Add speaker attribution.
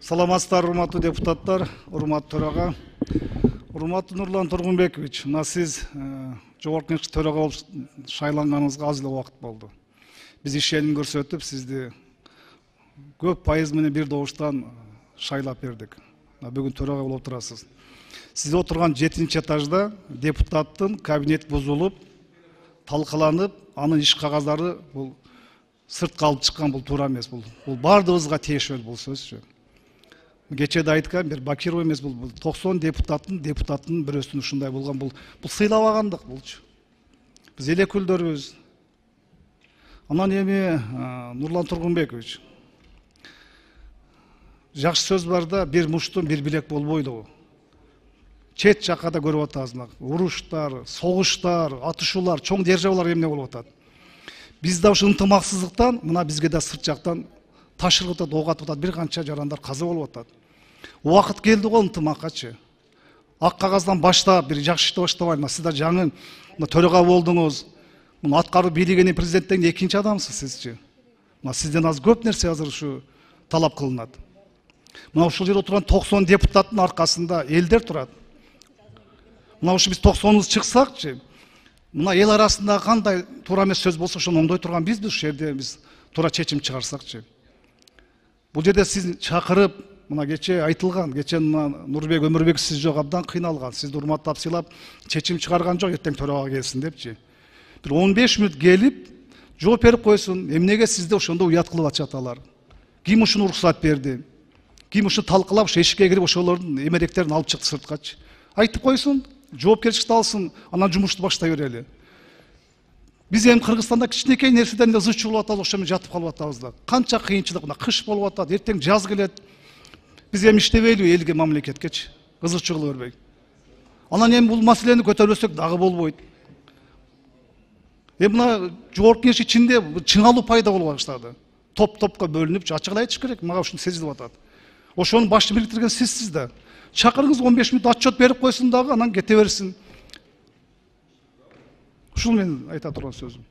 Speaker 1: Саламатсыздар, урматтуу депутаттар, урматтуу төрага. Урматтуу Нурлан Тургунбекович, мына сиз жогорку кеңеш төрага болуп шайланганыңызга аз эле убакыт болду. Биз ишеним көрсөтүп, сизди көп пайыз менен бир добуштан шайлап бердик. Бүгүн төрага болуп турасыз. Сиз отурган 7-чи этажда депутаттын кабинет бузулуп, талкаланып, анын иш кагаздары бул сыртка алып чыккан, бул туура эмес. Бул бардыгыбызга тиешелүү бул сөзчү. Кечеде айткан бир Бакиров эмес, бул 90 депутаттын бирөөсүнүн ушундай болгон, бул сыйлабагандык булчу. Биз элекүлдөрбүз. Анан эми Нурлан Тургунбекович, жакшы сөз бар да, бир муштун бир билек болбойду. Чет жакка да көрүп атабыз, уруштар, согуштар, атышуулар, чоң державалар эмне болуп атат. Биз да ушу ынтымаксыздыктан мына бизге да сырт жактан ташырып атат, ок атып атат, бир канча жарандар каза болуп атат. Убакыт келди го ынтымаккачы. Ак кагаздан баштап бир жакшы ишти баштабайбы? Сиз да жаңы төрага болдуңуз. Мына аткаруу бийлигинин президенттен экинчи адамсыз сизчи. Мына сизден аз көп нерсе азыр ушу талап кылынат. Мына ушул жерде отурган 90 депутаттын аркасында элдер турат. Мына ушу биз 90-ыбыз чыксакчы, мына эл арасында кандай туура эмес сөз болсо ошону оңдой турган бизбиз, ушул жерде биз туура чечим чыгарсакчы. Бул жерде сиз чакырып, мына кече айтылган, кече Нурбек Өмүрбек сиз жок абдан кыйналган, сизди урматтап сыйлап, чечим чыгарган жок, эртең төрага келсин депчи. Бир 15 мүнөт келип, жооп берип койсун, эмнеге сизди ошондо уят кылып атышат алар? Ким ушуну уруксат берди? Ким ушу талкылап, ушу эшикке кирип ошолордун эмеректерин алып чыкты сырткачы? Айтып койсун, жоопкерчиликти алсын, анан жумушту баштай берели. Биз эми Кыргызстанда кичинекей нерседен эле ызы чуулуп атабыз, ошо менен жатып калып атабыз да. Канча кыйынчылык, мына кыш болуп атат, эртең жаз келет. Биз эми иштебейлиби элге, мамлекеткечи? Ызы чуулуп бербей. Анан эми бул маселени көтөрбөсөк дагы болбойт. Эми мына жогорку кеңеш ичинде чыңалуу пайда болуп баштады. Топ-топко бөлүнүп, ачык эле айтыш керек, мага ушуну сезилип атат. Ошону башты бириктирген сизсиз да. Чакырыңыз 15 мүнөт отчет берип койсун дагы, анан кете берсин. Ушул менин айта турган сөзүм.